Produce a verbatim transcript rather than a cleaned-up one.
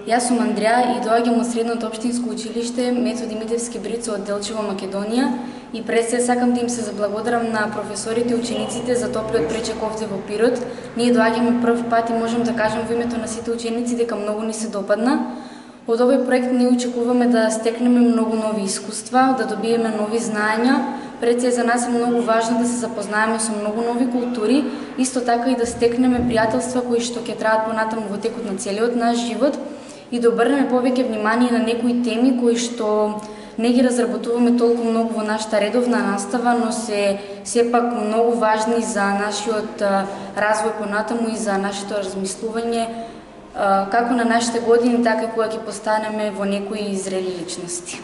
Јас сум Андреа и доаѓам од Средното општинско училиште Методи Митевски Брицо од Делчево, Македонија, и пред се сакам да им се заблагодарам на професорите и учениците за топлиот пречек овде во Пирот. Ние доаѓаме прв пат и можам да кажам во името на сите ученици дека многу ни се допадна. Од овој проект ние очекуваме да стекнеме многу нови искуства, да добиеме нови знаења. Пред се за нас е многу важно да се запознаеме со многу нови култури, исто така и да стекнеме пријателства кои што ќе траат понатаму во текот на целиот наш живот и да обрнеме повеќе внимание на некои теми кои што не ги разработуваме толку многу во нашата редовна настава, но се сепак многу важни за нашиот развој понатаму и за нашето размислување како на нашите години, така и кога ќе постанеме во некои зрели личности.